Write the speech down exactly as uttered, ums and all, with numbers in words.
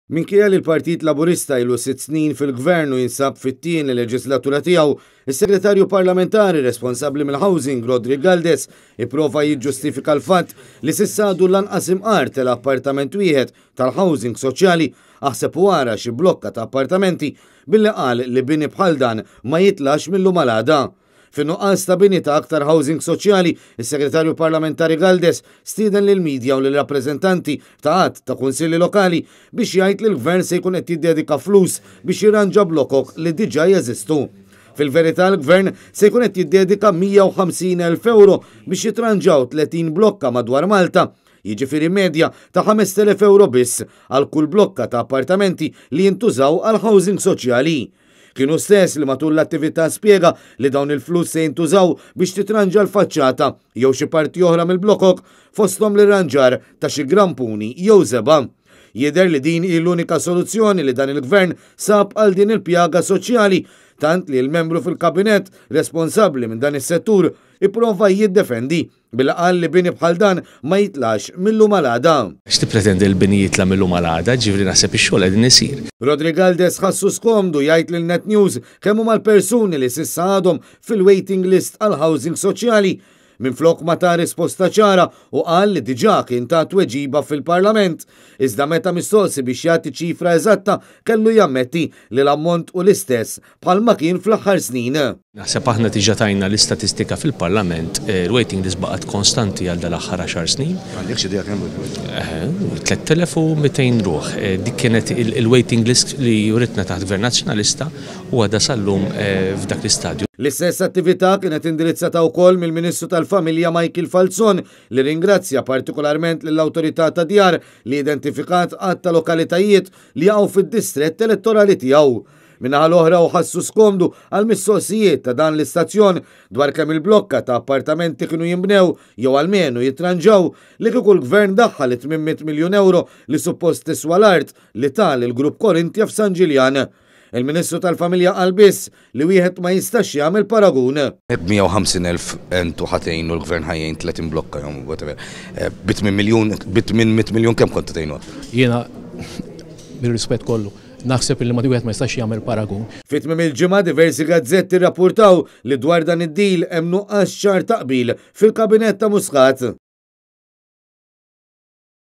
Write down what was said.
Minkejja li l-Partit Laburista ilu sitt snin fil-gvern u jinsab fit-tieni leġislatura tiegħu, is-Segretarju Parlamentari responsabbli mill-Housing Roderick Galdes ipprova jiġġustifika l-fatt li s'issa għadu lanqas imqar tela' appartament wieħed tal-housing soċjali, aħseb u ara xi blokka ta' appartamenti, billi qal li bini bħal dan ma jitlax mil-lum għal għada. Fin-nuqqas ta' bini ta' aktar housing soċjali, is-Segretarju Parlamentari Galdes stieden lill-midja u lill-rappreżentanti ta' għadd ta' kunsilli lokali biex jgħid li l-gvern se jkun qed jiddedika flus biex jirranġa blokok li diġà jeżistu. Fil-verità, l-gvern se jkun qed jiddedika mija u ħamsin elf euro biex jitranġaw tletin blokka madwar Malta, jiġifieri medja ta' ħamest elef euro biss għal kull blokka ta' appartamenti li jintużaw għal housing soċjali. Kienu stess li matul l-attività spjega li dawn il-flus se jintużaw biex titranġa l-faċċata jew xi parti oħra mill-blokok, fosthom l-irranġar ta' xi grampuni jew żebgħa. Jidher li din hi l-unika soluzzjoni li dan il-gvern sab għal din il-pjaga soċjali, tant li l-membru fil-kabinett responsabbli minn dan is-settur ipprova jiddefendi billi qal li bini bħal dan ma jitlax mil-lum għal għada. X'tippretendi l-bini jitla' mil-lum għal għada, ġifieri naħseb ix-xogħol qegħdin isir. Roderick Galdes ħassu skomdu jgħid lil Net News kemm huma l-persuni li s'issa għadhom fil-waiting list għal housing soċjali. Minflok ma ta risposta ċara u qal li diġà kien ta tweġiba fil-Parlament. Iżda meta mistoqsi biex jagħti ċifra eżatta, kellu jammetti li l-ammont u l-istess bħalma kien fl-aħħar snin. Naħseb aħna diġà tajna l-istatistika fil-Parlament, eh, il-waiting list baqgħet konstanti għal dal-aħħar għaxar snin. Għandek xi idea kemm hu? Eh, tliet elef u mitejn ruħ. Eh, dik kienet il-, il-waiting list li juritna taħt Gvern Nazzjonalista u għadha sal-lum, eh, f'dak l-istadju. L-istess attività kienet indirizzata wkoll mill-Ministru tal-Familja Michael Falzon, li ringrazzja partikolarment lill-Awtorità ta' Djar li identifikat għadd ta' lokalitajiet li jaqgħu fid-distrett elettorali tiegħu. Min-naħa l-oħra u ħassu skomdu għal mistoqsijiet ta' dan l-istazzjon dwar kemm il-blokka ta' appartamenti kienu jinbnew jew almenu jitranġaw li kieku l-gvern daħħal tmien mitt miljun euro li suppost tiswa l-art li tal il-Grupp Korintia f'San Ġiljan. Il-Ministru tal-Familja qal biss li wieħed ma jistax jagħmel paragun. Mija u ħamsin elf entu ħatejn u l-gvern ħajjin tletin blokka jew whatever. Eh, bi tmien miljun, bi tmien mitt miljun kemm kont tgħinu? Jiena bir-rispett kollu naħseb li ma wieħed ma jistax jagħmel paragun. Fi tmiem il-ġimgħa diversi gazzetti rrappurtaw li dwar dan id-deal hemm nuqqas ċar taqbil fil-kabinett ta' Muscat.